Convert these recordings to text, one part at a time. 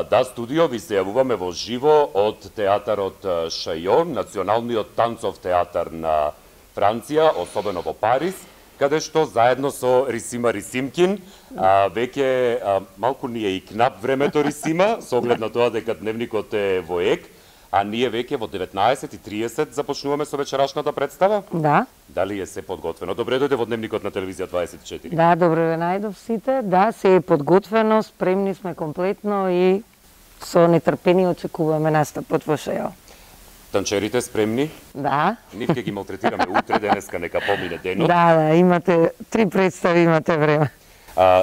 Да, студио, ви се јавуваме во живо од театарот Шајо, националниот танцов театар на Франција, особено во Париз, каде што заедно со Рисима Рисимкин, веќе малку ни е и кнап времето, Рисима, со оглед на тоа дека дневникот е во ек, а ние веќе во 19:30 започнуваме со вечерашната представа? Да. Дали е се подготвено? Добре дојде во дневникот на телевизија 24. Да, добро ве најдов сите. Да, се е подготвено, спремни сме комплетно и со нетрпение очекуваме настапот во Шајо. Танчерите спремни? Да. Нив ќе ги малтретираме утре, денеска нека помине денот. Да, имате 3 представи, имате време.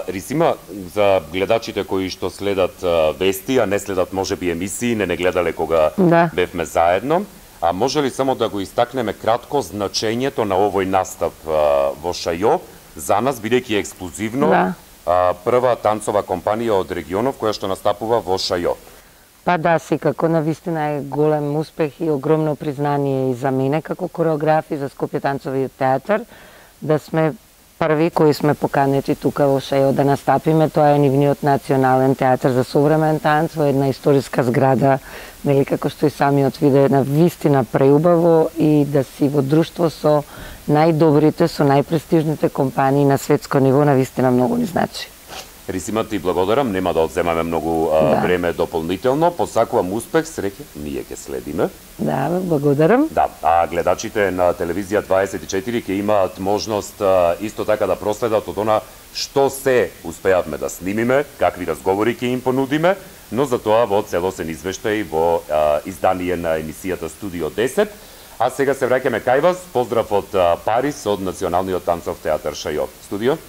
Рисима, за гледачите кои што следат вести, а не следат можеби емисии, не гледале кога бевме заедно, може ли само да го истакнеме кратко значењето на овој настап во Шајо, за нас бидејќи ексклузивно прва танцова компанија од регионов која што настапува во Шајо? Па да, секако, навистина е голем успех и огромно признание и за мене како кореограф и за Скопје танцовиот театар, да сме први кои сме поканети тука во Шајо да настапиме. Тоа е нивниот национален театар за современ танц во една историска зграда, нели, како што и самиот виде, на вистина преубаво, и да си во друштво со најдобрите, со најпрестижните компании на светско ниво, на вистина многу ни значи. Рисима, ти благодарам, нема да одземаме многу време дополнително. Посакувам успех, среќа, ние ќе следиме. Да, благодарам. Да, а гледачите на телевизија 24 ќе имаат можност исто така да проследат од она што се успеавме да снимиме, какви разговори ќе им понудиме, но за тоа во целосен извештај во издание на емисијата Студио 10. А сега се враќаме кај вас. Поздрав од Париз, од Националниот танцов театар Шајо. Студио?